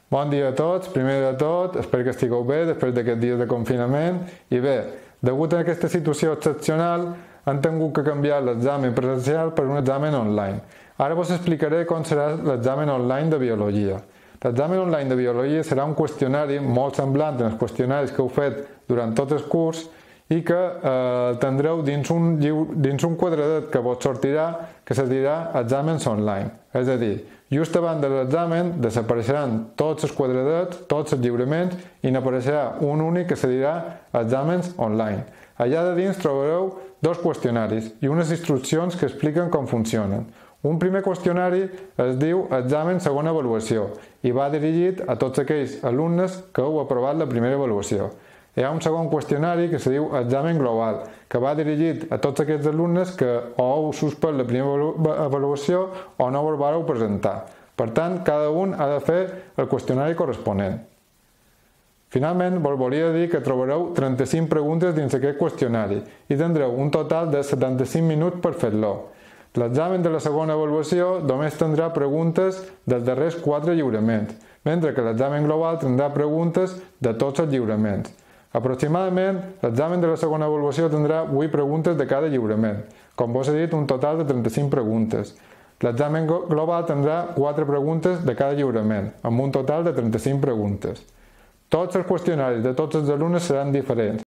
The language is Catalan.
Bon dia a tots, primer de tot, espero que estigueu bé després d'aquests dies de confinament. I bé, degut a aquesta situació excepcional, han tingut que canviar l'examen presencial per un examen online. Ara vos explicaré com serà l'examen online de Biologia. L'examen online de Biologia serà un qüestionari molt semblant als qüestionaris que heu fet durant tot el curs i que tindreu dins un quadradet que vos sortirà que se dirà exàmens online. És a dir, just abans de l'examen desapareixeran tots els quadradets, tots els lliuraments i n'apareixerà un únic que se dirà exàmens online. Allà de dins trobareu dos qüestionaris i unes instruccions que expliquen com funcionen. Un primer qüestionari es diu examen segona avaluació i va dirigit a tots aquells alumnes que heu aprovat la primera avaluació. Hi ha un segon qüestionari que se diu examen global, que va dirigit a tots aquests alumnes que o heu suspès la primera avaluació o no us vareu presentar. Per tant, cada un ha de fer el qüestionari corresponent. Finalment, vos volia dir que trobareu 35 preguntes dins aquest qüestionari i tindreu un total de 75 minuts per fer-lo. L'examen de la segona avaluació només tindrà preguntes dels darrers 4 lliuraments, mentre que l'examen global tindrà preguntes de tots els lliuraments. Aproximadament, l'examen de la segona avaluació tindrà 8 preguntes de cada lliurament, com vos he dit, un total de 35 preguntes. L'examen global tindrà 4 preguntes de cada lliurament, amb un total de 35 preguntes. Tots els qüestionaris de tots els alumnes seran diferents,